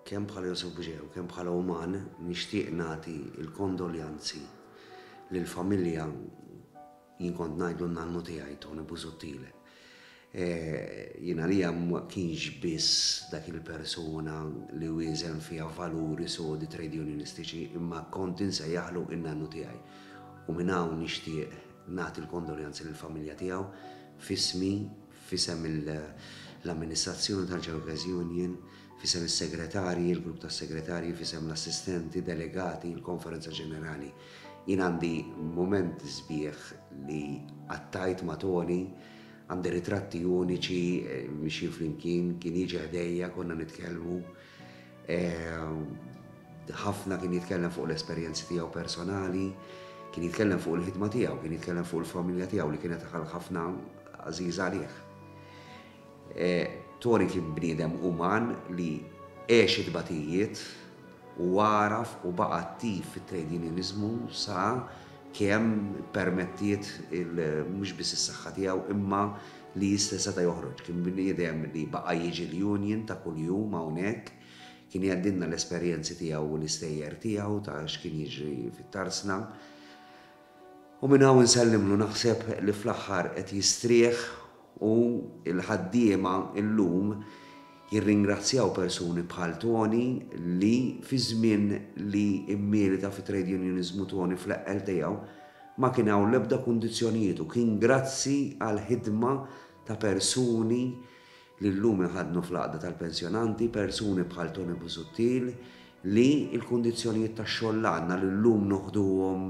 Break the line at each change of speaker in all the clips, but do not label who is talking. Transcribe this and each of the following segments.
Kemm bħala Josef Bugeja u kemm bħala uman nixtieq nagħti l-kondoljanzi lill-familja jien kont ngħidlu n-nannu tiegħi Tony Busuttil. Jien għalija ma kienx biss dak il-persuna li wieżen fiha valuri sodi trade unionistiċi imma kont insejjaħlu n-nannu tiegħi. U minn hawn nixtieq nagħti l-kondoljanzi lill-familja tiegħu f'ismi, f'isem l-amministrazzjoni tal-Workers Union, f'isem is-segretarji, il-grupp tas-segretarji, f'isem l-assistenti, delegati, il-konferenza ġenerali. Jien għandi mumenti sbieħ li qattajt ma' Tony, għandi ritratti uniċi mixjin flimkien, kien jiġi ħdejja, konna nitkellmu. Ħafna kien jitkellem fuq l-esperjenzi tiegħu personali, kien jitkellem fuq il-ħidma tiegħu, kien jitkellem fuq il-familja tiegħu li kienet ħafna għażiża għalih. Tony kien bniedem uman li għex it-tbatijiet u għaraf u baqa' attiv fit-trade unioniżmu sa kemm ippermettiet mhux biss is-saħħa tiegħu imma li jista' seta' joħroġ. Kien bniedem li baqa' jiġi l-union ta' kuljum hawnhekk, kien jgħaddilna l-esperjenzi tiegħu u l-istejjer tiegħu ta' x'kien jiġri fit-tarzna. U minn hawn insellimlu naħseb li fl-aħħar qed jistrieħ u l-ħaddiema llum jirringrazzjaw persuni bħal Tony li fi żmien li mmilita fit-trade unioniżmu Tony fl-eqqel tiegħu ma kien hawn l-ebda kundizzjonijiet u kien grazzi għall-ħidma ta' persuni li llum iħaddnu fl-Għaqda tal-Pensjonanti, persuni bħal Tony Busuttil li l-kundizzjonijiet tax-xogħol li għandna li llum noħduhom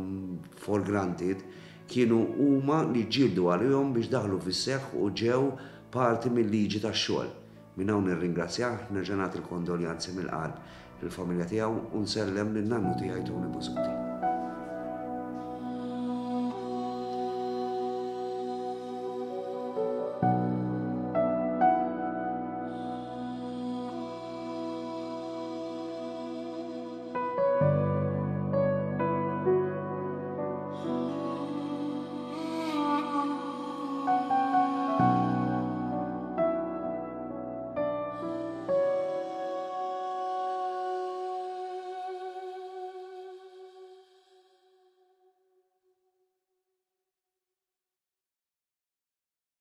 for granted kienu huma li ġġieldu għalihom biex daħlu fis-seħħ u ġew parti mil-liġi tax-xogħol. Minn hawn nirringrazzjah, nerġa' nagħti l-kondoljanzi mill-qalb lill-familja tiegħu u nsellem lin-nannu tiegħi Tony Busuttil.